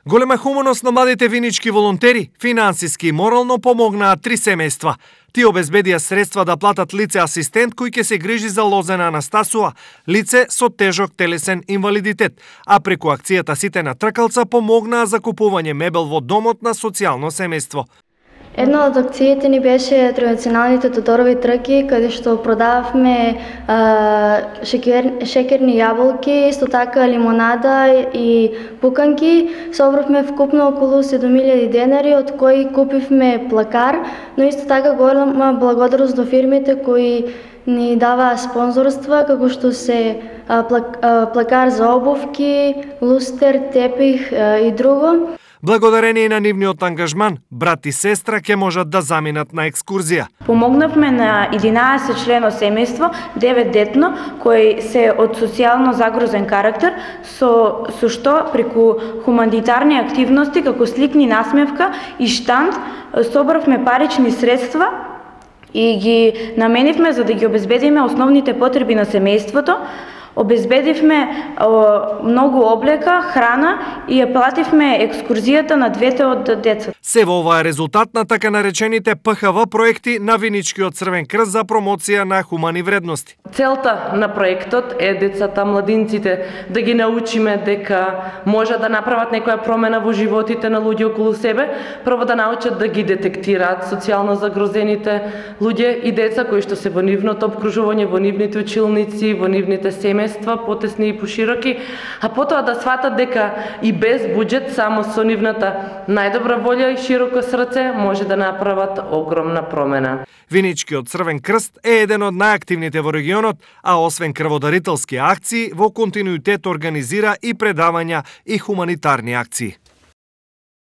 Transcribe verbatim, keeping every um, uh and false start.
Голема хуманост на младите винички волонтери, финансиски и морално помогнаа три семејства. Тие обезбедија средства да платат лице асистент кој ќе се грижи за Лозена Анастасова, лице со тежок телесен инвалидитет, а преку акцијата Сите на тркалца помогнаа за купување мебел во домот на социјално семејство. Една од акциите ни беше традиционалните Тодорови трки, каде што продававме а, шекер, шекерни јаболки, исто така лимонада и пуканки. Собравме вкупно околу седум илјади денари, од кои купивме плакар, но исто така голема благодарност до фирмите кои ни даваа спонзорства, како што се а, плак, а, плакар за обувки, лустер, тепих а, и друго. Благодарение на нивниот ангажман, брат и сестра ќе можат да заминат на екскурзија. Помогнавме на единаесет члено семејство, девет детно, кои се од социјално загрозен карактер, со, со што преку хуманитарни активности, како сликни насмевка и штанд, собравме парични средства и ги наменивме за да ги обезбедиме основните потреби на семејството. Обезбедивме о, многу облека, храна и ја плативме екскурзијата на двете од децата. Се во ова е резултат на така наречените П Х В проекти на Виничкиот Црвен крст за промоција на хумани вредности. Целта на проектот е децата, младинците да ги научиме дека може да направат некоја промена во животите на луѓе околу себе, прво да научат да ги детектираат социјално загрозените луѓе и деца кои што се во нивното обкружување, во нивните училници, во нивните семејства, потесни и пошироки, а потоа да сватат дека и без буџет, само со нивната најдобра волја и широко срце може да направат огромна промена. Виничкиот Црвен крст е еден од најактивните во регионот, а освен крводарителски акции, во континуитет организира и предавања и хуманитарни акции.